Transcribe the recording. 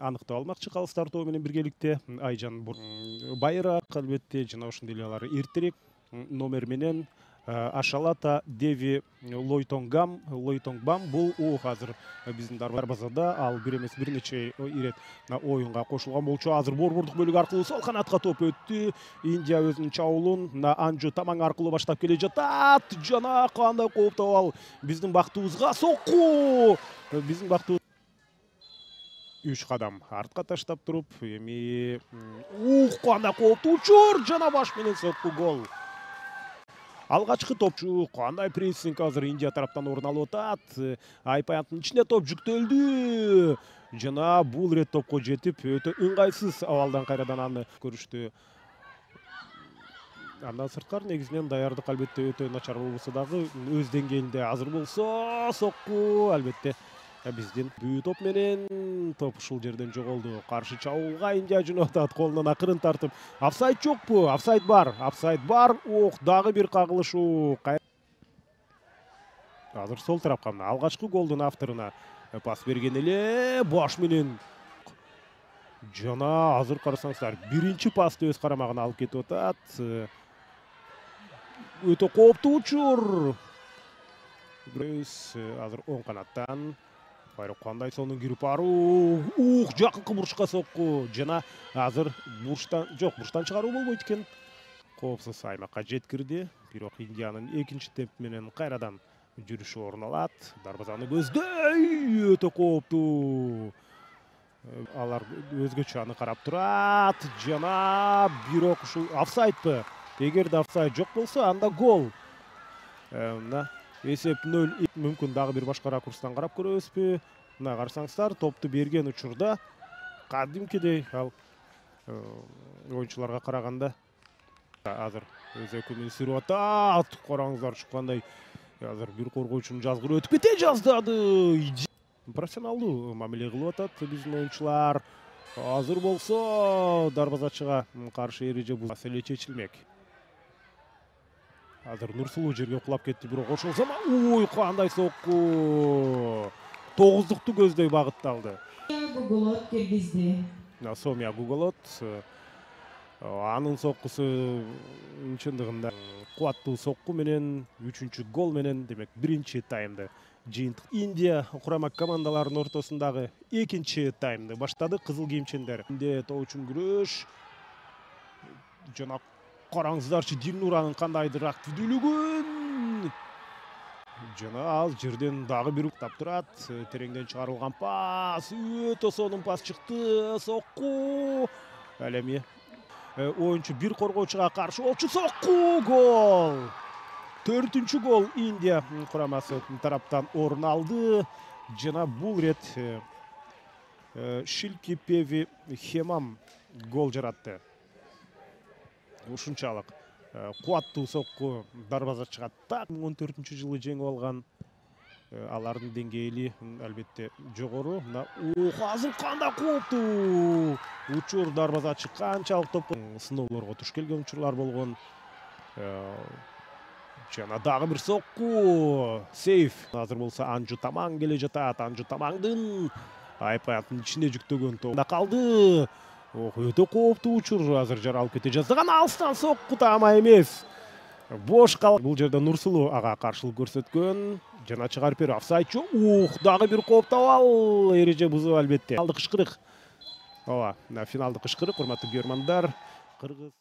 аныктап алмакчы калыстар тобу менен биргеликте. Айжан байыраак албетте, жана ошондой эле алар эртерээк номер менен Ашалата Деви Лойтонгбам бул азыр биздин дарбазада ал бир эмес бир нече ирет оюнга кошулган болчу. Азыр борбордук бөлүк аркылуу сол канатка топ өттү. Индия өзүнүн чабуулун Анжу Тамаң аркылуу баштап келе жатат. Жана кандай кооптуу абал биздин бактыбызга сокку. Биздин бактыбыз 3 кадам артка таштап туруп, эми кандай кооптуу учур, жана баш менен сокку, гол. Алгачкы топчу кандай прессинг азыр Индия тараптан орун алып атат. Айпаяттын ичине топ жүктөлдү. Жана бул ирет топко жетип, өтө ыңгайсыз абалдан кайрадан аны көрүштү. Андан сырткары негизинен даярдык албетте өтө начар болбосо дагы өз деңгээлинде. Азыр болсо сокку албетте биздин бүү топ менен топ ушул жерден жоголду. Каршы чабуулга Индия жөнөп атат, колунан акырын тартып. Офсайд жокпу? Офсайд бар. Офсайд бар. Дагы бир кагылышуу. Азыр сол тарапка алгачкы голдун авторуна пас берген эле баш менен. Жана азыр карасаңыздар, биринчи пасты өз карамагына алып кетип атат. Өтө кооптуу учур. Азыр оң канаттан кандай сонун кирип баруу. Жакынкы бурчка сокку. Жана азыр бурчтан чыгаруу болбойт экен. Коопсуз аймакка жеткирди. Бирок Индиянын экинчи темп менен кайрадан жүрүшү орун алат. Дарбазаны көздөй, өтө кооптуу. Алар өзгөчө аны карап турат. Жана бирок ушул офсайдпы? Эгерде офсайд жок болсо, анда гол. Эсеп 0. Мүмкүн дагы бир башка ракурстан карап көрөбүзбү? Мына карасаңыздар, топту берген учурда кадимкидей ал оюнчуларга караганда азыр өз өкүмүн сүрүп атат. Караңыздар чыккандай. Азыр бир коргоочунун жазгыры өтүп кете жаздады. Профессионалдуу мамиле кылып атат биздин оюнчулар. Азыр болсо дарбазачыга каршы эреже бул маселе чечилмек. Азыр Нурсулуу жерге кулап кетти, бирок ошол заман кандай сокку. 9-дукту көздөй багытталды. Гуголот киргизди. Сомия Гуголот. Анын соккусу чындыгында кубаттуу сокку менен 3-чү гол менен, демек, биринчи таймды жыйынтык Индия курама командаларынын ортосундагы экинчи таймды баштады. Кызыл кийимчендер топ үчүн күрөш. Жана караңыздарчы, Дилнуранын кандайдыр активдүүлүгүн. Жана ал жерден дагы бир тап турат. Тереңден чыгарылган пас. Өтө сонун пас чыкты. Сокку. Ал эми оюнчу бир коргоочуга каршы болчу. Сокку, гол. 4-чү гол Индия курамасы тараптан орун алды. Жана бул рет Шилкипеви Хемам гол жаратты. Ушунчалык кубаттуу сокку дарбазачыга так 14-жылы жеңип алган. Алардын деңгээли албетте жогору. Азыр кандай кооптуу учур, дарбазачы канчалык топ сыноолорго туш келген учурлар болгон. Жана дагы бир сокку. Сейф. Азыр болсо Анжу Тамаң келе жатат. Анжу Тамаңдын айпаяттын ичине жүктөгөн топ калды. Өтө кооптуу учур. Азыр жаралып кете жаздаган алыстан сокку тама эмес. Бош калды. Бул жерде Нурсулуу ага каршылык көрсөткөн. Жана чыгарып берүү. Офсайд жок. Дагы бир кооптуу абал. Эреже бузуу албетте. Финалдык кышкырык. Финалдык кышкырык, урматтуу көрөрмандар. Кыргыз